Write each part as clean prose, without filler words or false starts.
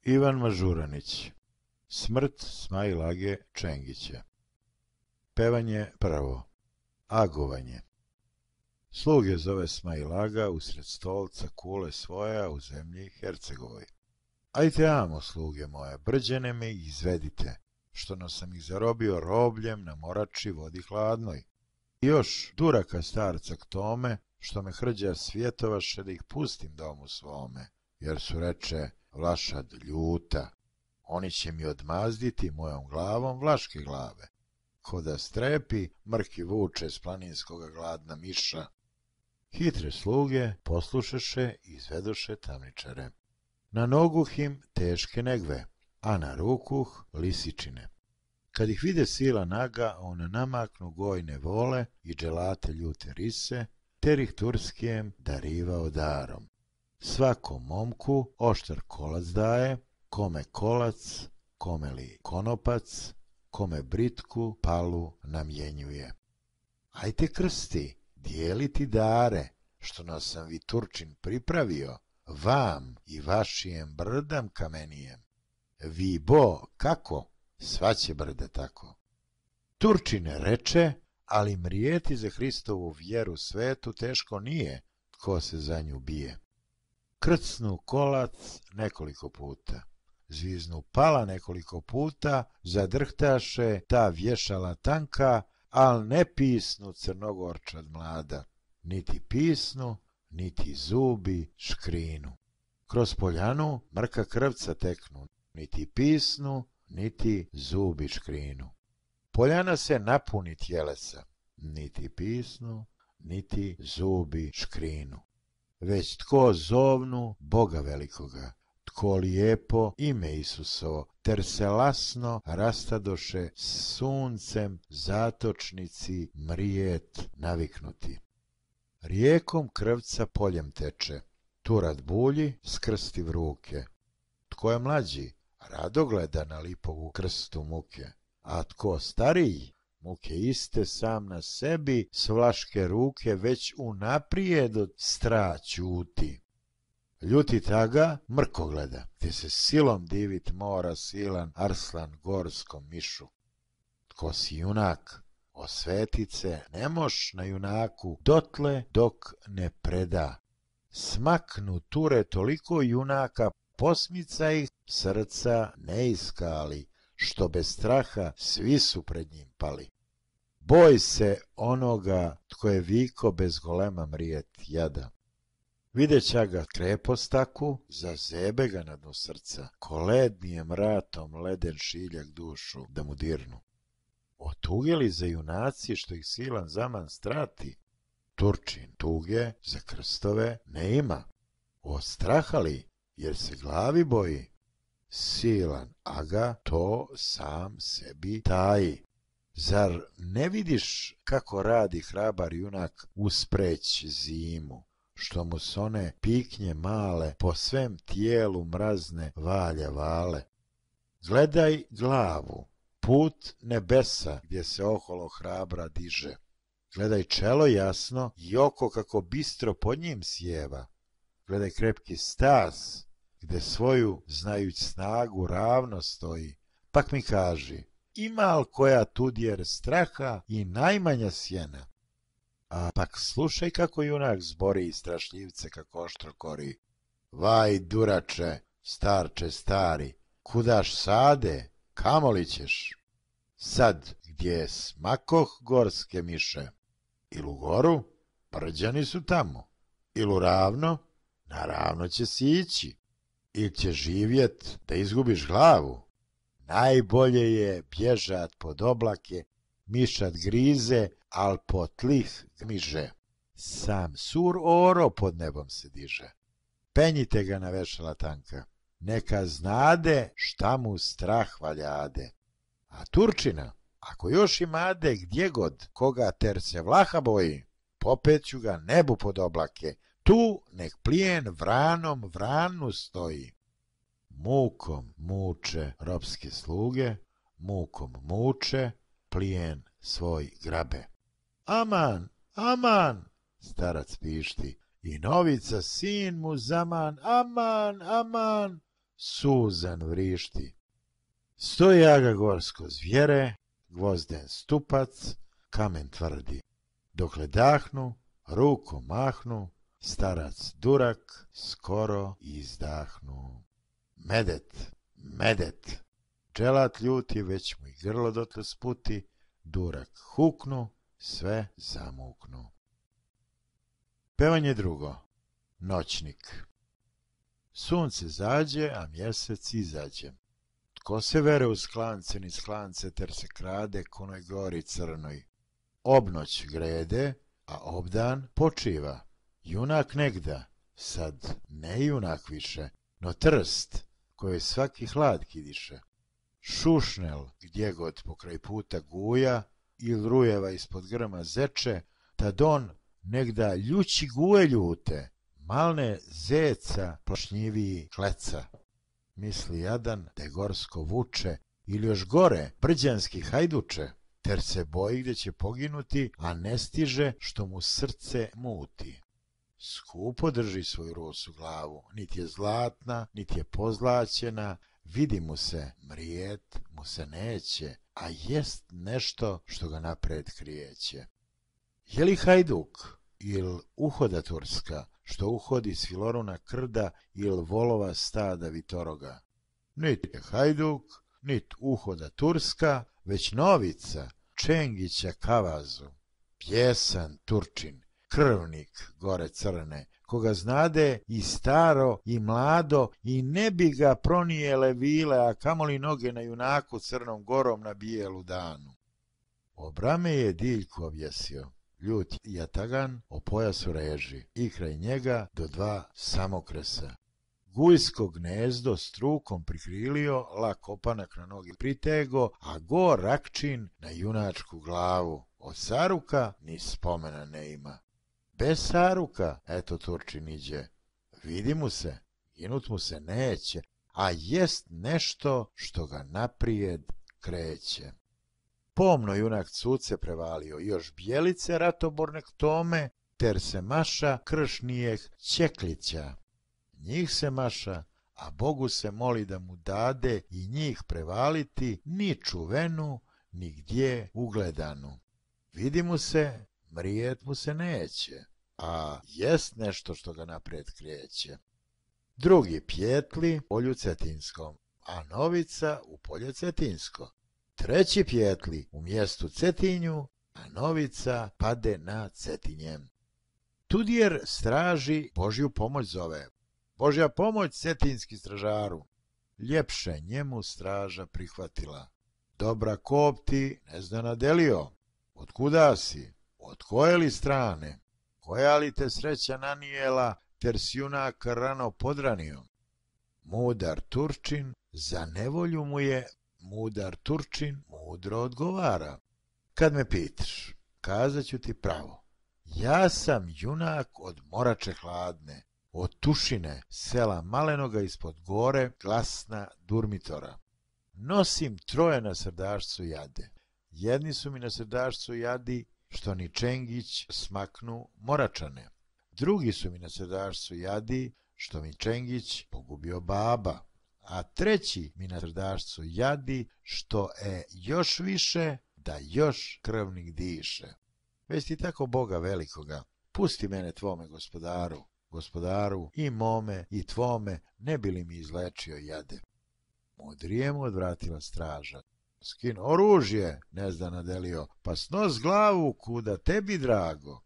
Ivan Mažuranić. Smrt Smajl Age Čengića. Pevanje prvo. Agovanje. Sluge zove Smajl Aga usred stolca kule svoja u zemlji Hercegovoj. Ajte amo, sluge moje, brđene me ih izvedite, što no sam ih zarobio robljem na morači vodi hladnoj. I još duraka starca k tome, što me hrđa svjetovaše da ih pustim domu svome, jer su, reče, Vlašad ljuta. Oni će mi odmazditi mojom glavom vlaške glave. Ko da strepi, mrki vuče s planinskoga gladna miša. Hitre sluge poslušaše i izvedoše tamničare. Na noguh im teške negve, a na rukuh lisičine. Kad ih vide sila naga, on namaknu gojne vole i dželate ljute rise, ter ih Turskijem darivao darom. Svakom momku oštar kolac daje, kome kolac, kome li konopac, kome britku palu namjenjuje. Ajte krsti, dijeliti dare, što nas sam vi Turčin pripravio, vam i vašijem brdam kamenijem. Vi bo, kako? Sva će brda tako. Turčine reče, ali mrijeti za Hristovu vjeru svetu teško nije, tko se za nju bije. Krcnu kolac nekoliko puta, zviznu pala nekoliko puta, zadrhtaše ta vješala tanka, al ne pisnu crnogorčad mlada, niti pisnu, niti zubi škrinu. Kroz poljanu mrka krvca teknu, niti pisnu, niti zubi škrinu. Poljana se napuni tjelesa, niti pisnu, niti zubi škrinu. Već tko zovnu Boga velikoga, tko lijepo ime Isusovo, ter se lasno rastadoše suncem zatočnici mrijet naviknuti. Rijekom krvca poljem teče, Turad bulji skrstiv ruke. Tko je mlađi, rado gleda na lipovu krstu muke, a tko stariji, muke iste sam na sebi s vlaške ruke već unaprijed od stra ćuti. Ljuti taga mrko gleda, te se silom divit mora silan Arslan gorskom mišu. Tko si junak, osvetice ne moš na junaku dotle dok ne preda. Smaknu Ture toliko junaka, posmica ih srca ne iskali, što bez straha svi su pred njim pali. Boj se onoga tko je viko bez golema mrijet jada. Videća ga krepostaku, zazebe ga na dnu srca, ko lednijem ratom leden šiljak dušu da mu dirnu. Otugeli za junaci što ih silan zaman strati, Turčin tuge za krstove ne ima. Ostrahali jer se glavi boji, silan aga to sam sebi taji. Zar ne vidiš kako radi hrabar junak uspreć zimu, što mu s one piknje male po svem tijelu mrazne valja vale? Gledaj glavu, put nebesa gdje se oholo hrabra diže. Gledaj čelo jasno i oko kako bistro pod njim sjeva. Gledaj krepki stas gdje svoju znajuć snagu ravno stoji. Pak mi kaži, ima li koja tudjer straha i najmanja sjena? A pak slušaj kako junak zbori strašljivce kako oštro kori. Vaj durače, starče stari, kudaš sade, kamo li ćeš? Sad gdje smakoh gorske miše, ilu goru, brđani su tamo, ilu ravno, naravno će si ići, ili će živjet da izgubiš glavu. Najbolje je bježat pod oblake, mišat grize, al po tlih gmiže. Sam sur oro pod nebom se diže. Penjite ga na vešala tanka, neka znade šta mu strah valjade. A Turčina, ako još imade gdje god koga ter se Vlaha boji, popeću ga nebu pod oblake, tu nek plijen vranom vranu stoji. Mukom muče ropske sluge, mukom muče, plijen svoj grabe. Aman, aman, starac pišti, i novica sin mu zaman, aman, aman, suzan vrišti. Stojaga gorsko zvjere, gvozden stupac, kamen tvrdi. Dokle dahnu, rukom mahnu, starac durak, skoro izdahnu. Medet, medet, dželat ljuti, već mu i grlo dotle sputi, durak huknu, sve zamuknu. Pevanje drugo. Noćnik. Sunce zađe, a mjesec izađe. Tko se vere u sklance ni sklance, ter se krade konoj gori crnoj. Obnoć grede, a obdan počiva. Junak negda, sad ne junak više, no trst, koje svaki hlad kidiše. Šušnel, gdje god pokraj puta guja, il rujeva ispod grma zeče, tad on negda ljući guje ljute, malne zeca plašnjiviji kleca. Misli jadan da je gorsko vuče, ili još gore, brđanski hajduče, ter se boji gdje će poginuti, a ne stiže što mu srce muti. Skupo drži svoju rosu glavu, niti je zlatna, niti je pozlaćena, vidi mu se, mrijet mu se neće, a jest nešto što ga napred krijeće. Je li hajduk, il uhoda turska, što uhodi s filoruna krda, il volova stada vitoroga? Nit je hajduk, nit uhoda turska, već novica, Čengića Kavazu, pjesan Turčin, krvnik gore crne, koga znade i staro i mlado, i ne bi ga pronijele vile, a kamoli noge na junaku crnom gorom na bijelu danu. Obrame je Diljku objesio, ljut jatagan o pojasu reži, i kraj njega do dva samokresa. Gujsko gnezdo strukom prikrilio, lak opanak na nogi pritego, a go rakčin na junačku glavu. Od saruka ni spomena ne ima. Bez saruka, eto Turčin iđe. Vidi mu se, ginut mu se neće, a jest nešto što ga naprijed kreće. Pomno junak cuce prevalio, još bijelice ratoborne k tome, ter se maša kršnijeh Čeklića. Njih se maša, a Bogu se moli da mu dade i njih prevaliti ni čuvenu, ni gdje ugledanu. Vidi mu se, mrijet mu se neće, a jest nešto što ga naprijed kreće. Drugi pjetli u polju Cetinskom, a novica u polje Cetinsko. Treći pjetli u mjestu Cetinju, a novica pade na Cetinjem. Tudjer straži Božju pomoć zove. Božja pomoć cetinski stražaru. Ljepše njemu straža prihvatila. Dobra kop ti ne zna nadelio. Otkuda si? Od koje li strane? Koja li te sreća nanijela, ter si junak rano podranio? Mudar Turčin, za nevolju mu je mudar Turčin mudro odgovara. Kad me pitaš, kazat ću ti pravo. Ja sam junak od Morače hladne, od Tušine, sela malenoga ispod gore, glasna Durmitora. Nosim troje na srdašcu jade. Jedni su mi na srdašcu jadi, što ni Čengić smaknu Moračane. Drugi su mi na srdašcu jadi, što mi Čengić pogubio baba. A treći mi na srdašcu jadi, što još više, da još krvnik diše. Već ti tako Boga velikoga, pusti mene tvome gospodaru, gospodaru i mome i tvome, ne bi li mi izlečio jade. Mudrije mu odvratila straža. Skin oružje, ne zna nadelio, pa snos glavu kuda tebi drago.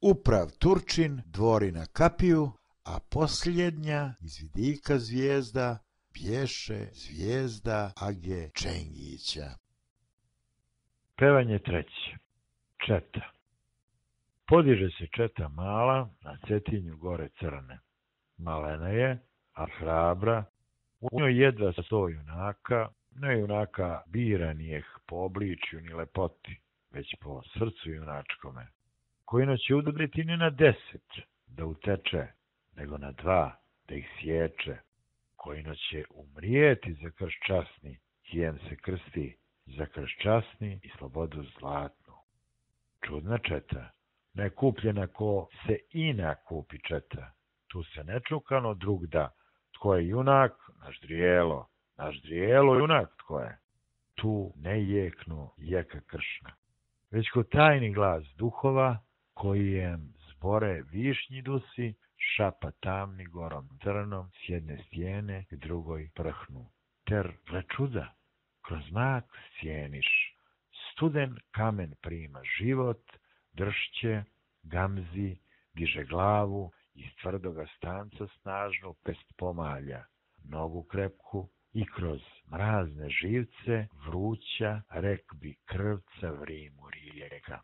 Uprav Turčin dvori na kapiju, a posljednja iz vidika zvijezda bješe zvijezda Age Čengića. Pevanje treće. Četa. Podiže se četa mala na Cetinju gore crne. Malena je, a hrabra, u njoj jedva 100 junaka, ne junaka biranijeh po obličju ni lepoti, već po srcu junačkome, koji će udriti ne na 10 da uteče, nego na 2 da ih sječe, koji će umrijeti za krš časni, kijem se krsti, za krš časni i slobodu zlatnu. Čudna četa, ne kupljena ko se ina kupi četa, tu se nečukano drug da, tko je junak, naš drijelo, junak tko je. Tu ne jeknu jeka kršna, već ko tajni glas duhova, kojem zbore višnji dusi, šapa tamni gorom crnom, s jedne stijene k drugoj prhnu. Ter, gle čuda, kroz mak sjeniš, studen kamen prima život, dršće, gamzi, diže glavu, iz tvrdoga stanca snažnu pest pomalja, nogu krepku i kroz mrazne živce vruća, rek bi krvca vrimu rijeka.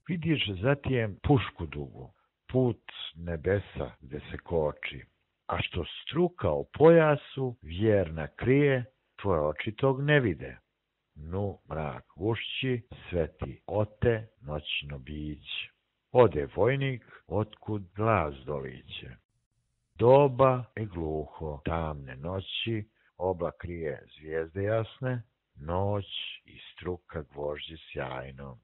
Vidiš zatijem pušku dugu, put nebesa gde se koči, a što struka o pojasu vjerna krije, tvoje oči tog ne vide. Nu mrak gušći, sveti ote noćno biće. Ode vojnik, otkud glas doliće. Doba je gluho, tamne noći, oblak krije zvijezde jasne, noć i struka gvožđi sjajno.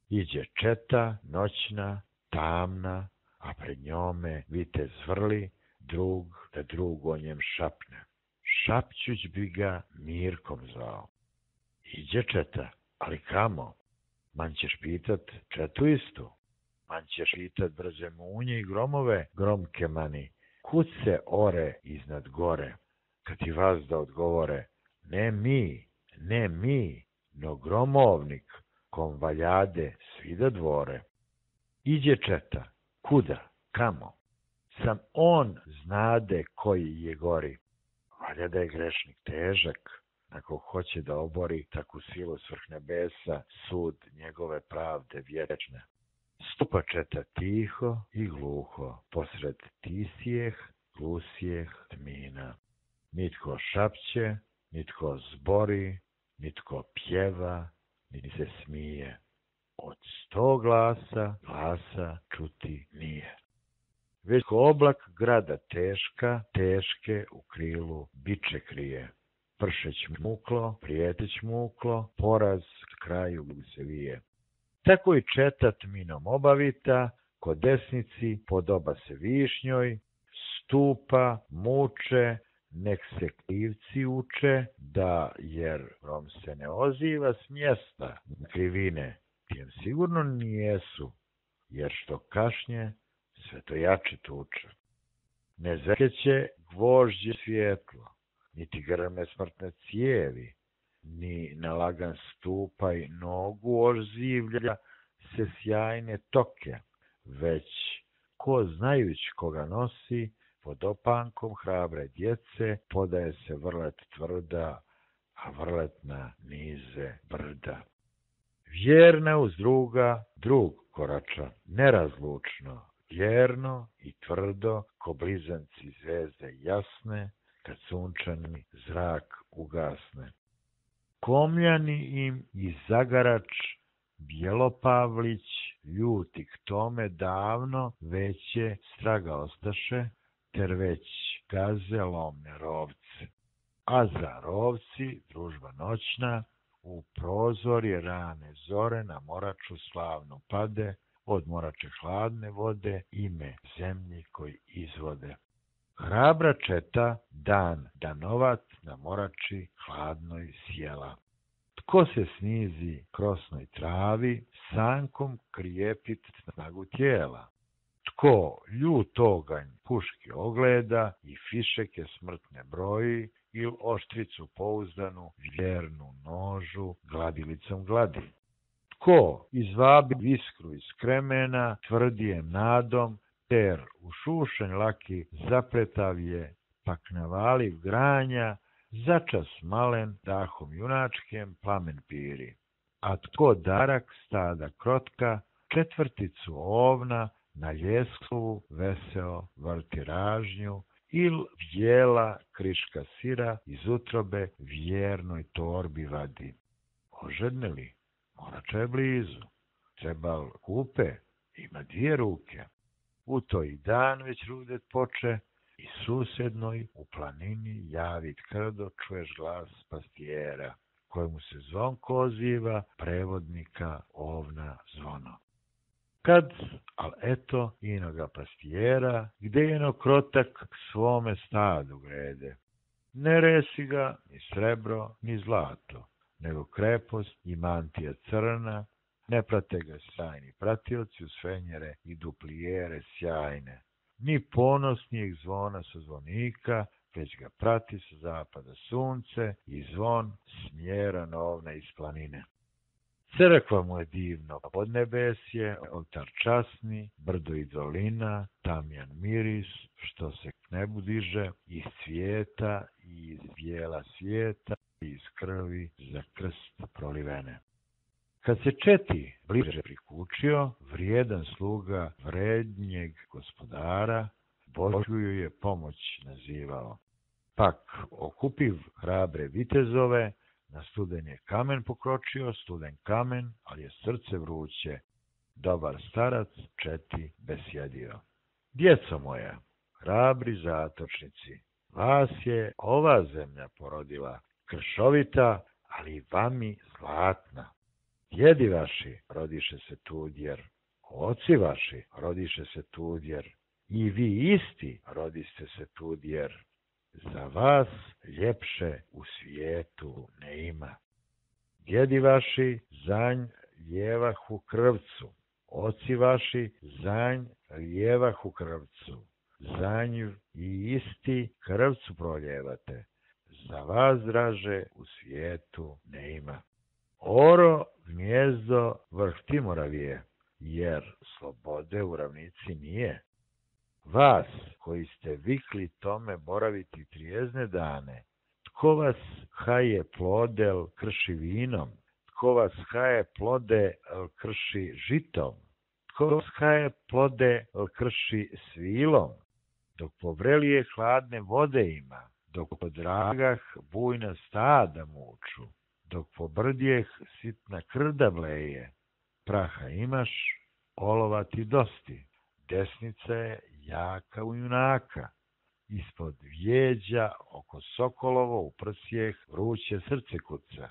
Iđe četa, noćna, tamna, a pred njome vitez vrli, drug da drug o njem šapne. Šapćuć bi ga Mirkom zvao. Iđe četa, ali kamo? Man ćeš pitat četu istu. Man ćeš pitat brze munje i gromove, gromke mani. Kud se ore iznad gore? Kad ti vazda odgovore, ne mi, no gromovnik, kom valjade svi da dvore. Iđe četa, kuda, kamo? Sam on znade koji je gori. Valja da je grešnik težak, ako hoće da obori takvu silu svrh nebesa, sud njegove pravde vječne. Stupa četa tiho i gluho, posred tisijeh, glusijeh tmina. Nitko šapće, nitko zbori, nitko pjeva, niti se smije. Od 100 glasa čuti nije. Već ko oblak grada teške u krilu biče krije. Pršeć muklo, prijeteć muklo, poraz k kraju se vije. Tako i četa tminom obavita, ko desnici podoba se višnjoj, stupa, muče, nek se krivci uče, da jer grom se ne oziva s mjesta krivine, tijem sigurno nijesu, jer što kašnje, sve to jače tuče. Ne zakeće gvožđe svjetlo, niti grme smrtne cijevi, ni na lagan stupaj nogu ožzivlja se sjajne toke, već ko znajuć koga nosi, pod opankom hrabre djece podaje se vrlet tvrda, a vrlet na nize brda. Vjerna uz druga, drug korača, nerazlučno, vjerno i tvrdo, ko blizanci zvezde jasne, kad sunčani zrak ugasne. Komljani im i zagarač Bjelopavlić, ljuti k tome davno veće straga ostaše, ter već gaze lomne rovce. A za rovci družba noćna, u prozorje rane zore na moraču slavnu pade, od morače hladne vode ime zemlji koji izvode. Hrabra četa dan danovat na morači hladnoj sjela. Tko se snizi krosnoj travi, sankom krijepit snagu tijela. Tko ljut oganj puški ogleda i fišeke smrtne broji, ili oštricu pouzdanu vjernu nožu gladilicom gladi. Tko izvabi iskru iz kremena tvrdijem nadom, ter u šušanj laki zapletav je, pak navaliv granja, začas malen dahom junačkem plamen piri. A tko darak stada krotka, četvrticu ovna na ljesklovu veseo vrti ražnju, il vjela kriška sira iz utrobe vjernoj torbi vadi. Ožedneli, morača je blizu, trebal kupe, ima 2 ruke. U to i dan već rudet poče, i susednoj u planini javit krdo čuješ glas pastijera, kojemu se zvonko oziva prevodnika ovna zvono. Kad, al eto, inoga pastijera, gde jeno krotak k svome stadu grede. Ne resi ga ni srebro, ni zlato, nego krepost i mantija crna, ne prate ga sjajni pratioci uz fenjere i duplijere sjajne, ni ponosnijeg zvona sa zvonika, već ga prati sa zapada sunce i zvon smjera novna iz planine. Crkva mu je divno podnebesje, oltar časni, brdo i dolina, tamjan miris, što se k nebu diže, iz cvijeta i iz bijela svijeta, i iz krvi za krst prolivene. Kad se Četi bliže prikučio, vrijedan sluga vrednjeg gospodara, Božju je pomoć nazivao. Pak, okupiv hrabre vitezove, na studen je kamen pokročio, studen kamen, ali je srce vruće, dobar starac Četi besjedio. Djeco moja, hrabri zatočnici, vas je ova zemlja porodila, kršovita, ali vami zlatna. Djedi vaši rodiše se tudjer, oci vaši rodiše se tudjer, i vi isti rodiste se tudjer. Za vas ljepše u svijetu ne ima. Djedi vaši zanj ljevahu krvcu, oci vaši zanj ljevahu krvcu, zanj i isti krvcu proljevate. Za vas, draže, u svijetu ne ima. Oro gnjezdo vrh Timoravije, jer slobode u ravnici nije. Vas, koji ste vikli tome boraviti trijezne dane, tko vas haje plodel krši vinom, tko vas haje plode krši žitom, tko vas haje plode krši svilom, dok povrelije hladne vode ima, dok po dragah bujna stada muču, dok po brdjeh sitna krda bleje, praha imaš, olova ti dosti, desnica je jaka u junaka, ispod vjeđa oko sokolovo u prsjeh vruće srce kuca.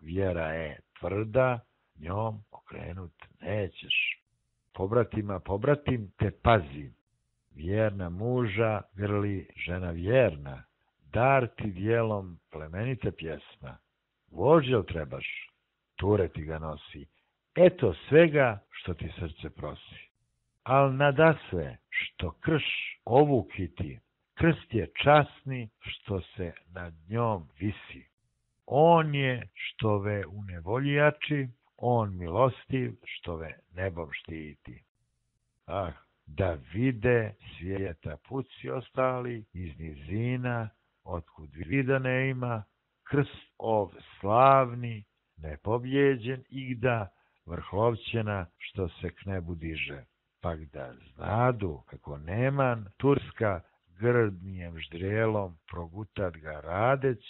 Vjera je tvrda, njom okrenut nećeš. Pobratim te pazi, vjerna muža grli žena vjerna, dar ti dijelom plemenita pjesma. Vožđel trebaš, ture ti ga nosi, eto svega što ti srce prosi. Al nadasve što krš ovukiti, krst je časni što se nad njom visi. On je što ve u nevolji jači, on milostiv što ve nebom štiti. Ah, da vide svijeta puci ostali iz nizina, otkud vida ne ima, krst ov slavni, nepobjeđen igda, vrhovćena što se k nebu diže. Pak da znadu kako neman Turska grdnijem ždrijelom progutat ga radeć,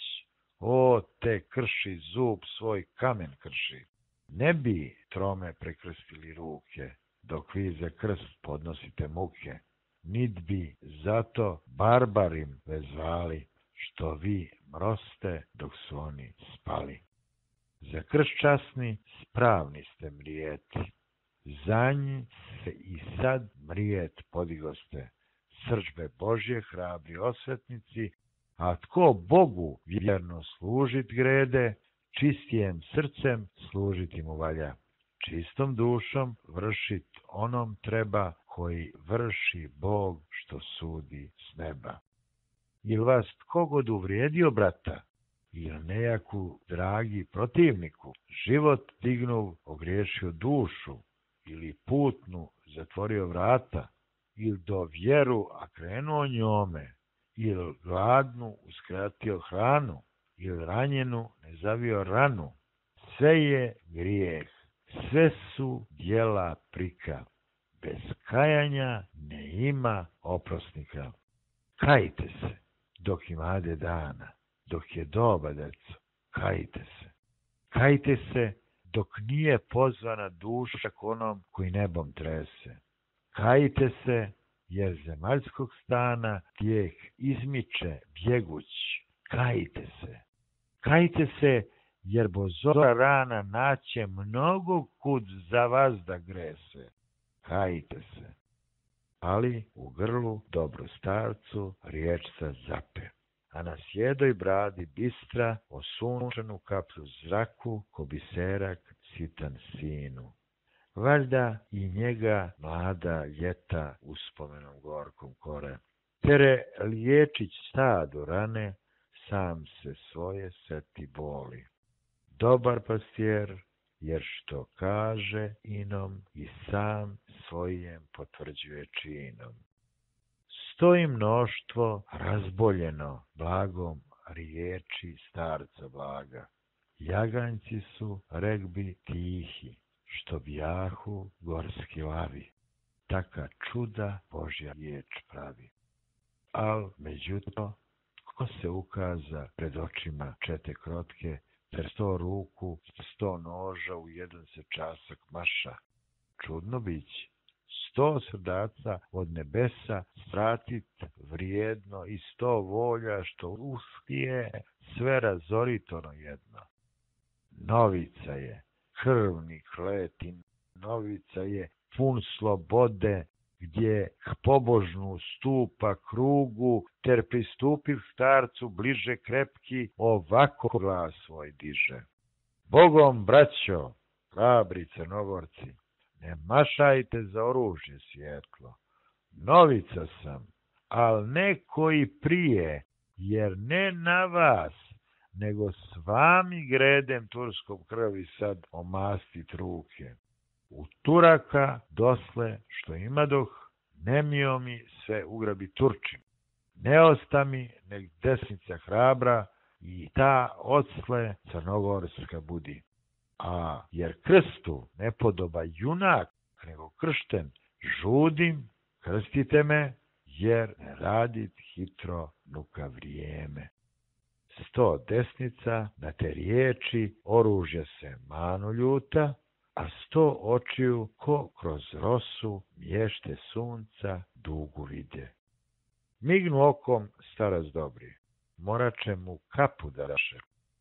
o te krši zub svoj kamen krši. Ne bi trome prekrstili ruke, dok vi za krst podnosite muke, nit bi zato barbarim vezvali, što vi mroste dok su oni spali. Za krst časni spravni ste mrijeti, za njih se i sad mrijet podigoste, srdžbe Božje hrabri osvetnici, a tko Bogu vjerno služit grede, čistijem srcem služiti mu valja. Čistom dušom vršit onom treba, koji vrši Bog što sudi s neba. Il vas tko god uvrijedio brata, ili nejaku dragi protivniku, život dignuv ogriješio dušu, ili putnu zatvorio vrata, ili do vjeru a krenuo njome, ili gladnu uskratio hranu, ili ranjenu ne zavio ranu, sve je grijeh, sve su djela prika, bez kajanja ne ima oprosnika. Kajte se, dok imade dana, dok je doba, deco, kajte se. Kajte se, dok nije pozvana duša k onom koji nebom trese. Kajte se, jer zemaljskog stana tijek izmiče bjeguć. Kajte se. Kajte se, jer bo zora rana naće mnogo kud za vas da grese. Kajte se. Ali u grlu dobro starcu riječca zape. a na sjedoj bradi bistra, osunčenu kaplju zraku, ko biserak sitan sinu. Valjda i njega mlada ljeta uspomenom gorkom kore. Tere liječić stado rane, sam se svoje seti boli. Dobar pastijer, jer što kaže inom i sam svojim potvrđuje činom. Stoji mnoštvo razboljeno blagom riječi starca blaga. Jaganjci su, rekbi, tihi, što bjahu gorski lavi. Taka čuda Božja riječ pravi. Al, međutim, ko se ukaza pred očima čete krotke, ter 100 ruku, 100 noža u jedan se časak maša? Čudno bić. 100 srdaca od nebesa svratit vrijedno i 100 volja što uspije sve razorit ono jedno. Novica je krvni kletin, novica je pun slobode, gdje k pobožnu stupa krugu, ter pristupiv starcu bliže krepki, ovako glas svoj diže. Bogom, braćo, hrabri Crnogorci, ne mašajte za oružje svjetlo. Novica sam, al ne koji prije, jer ne na vas, nego s vami gredem turskom krvi sad omastit ruke. U Turaka dosle što imadoh, nemio mi sve ugrabi Turčin. Ne osta mi nek desnica hrabra i ta odsle crnogorska budi. A jer krstu ne podoba junak, nego kršten, žudim, krstite me, jer ne radit hitro nuka vrijeme. 100 desnica na te riječi oružja se manu ljuta, a 100 očiju ko kroz rosu mješte sunca dugu vide. Mignu okom starac dobri, morače mu kapu da daše.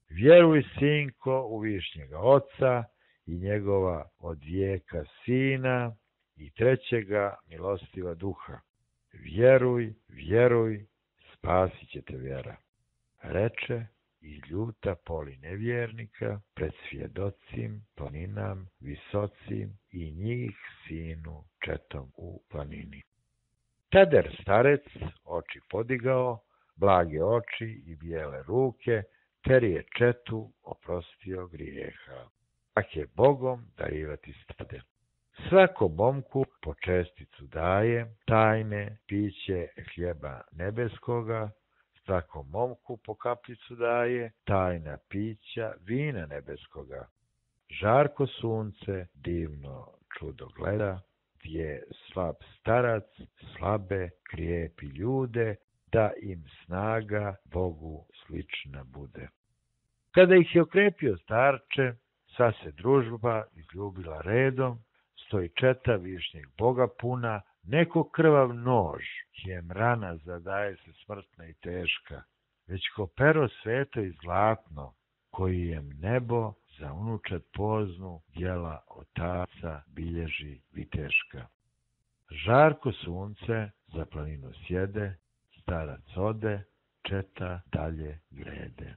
Vjeruj, sinko, u višnjega oca i njegova od vijeka sina i trećega milostiva duha. Vjeruj, vjeruj, spasit će te vjera. Reče i ljuta poli nevjernika pred svjedocim planinam visocim i njih sinu četom u planini. Tader starec oči podigao, blage oči i bijele ruke, ter je četu oprostio grijeha. Tak je Bogom darivati stade. Svako momku po česticu daje, tajne piće hljeba nebeskoga, svakom momku po kapljicu daje, tajna pića vina nebeskoga. Žarko sunce divno čudo gleda, gdje slab starac slabe krijepi ljude, da im snaga Bogu slična bude. Kada ih je okrepio starče, sva se družba izljubila redom, stoji četa višnjeg Boga puna, neko krvav nož, čijem rana zadaje se smrtna i teška, već ko pero sveto i zlatno, kojijem nebo za unučad poznu djela otaca bilježi viteška. Žarko sunce za planinu sjede, starac ode, četa dalje grede.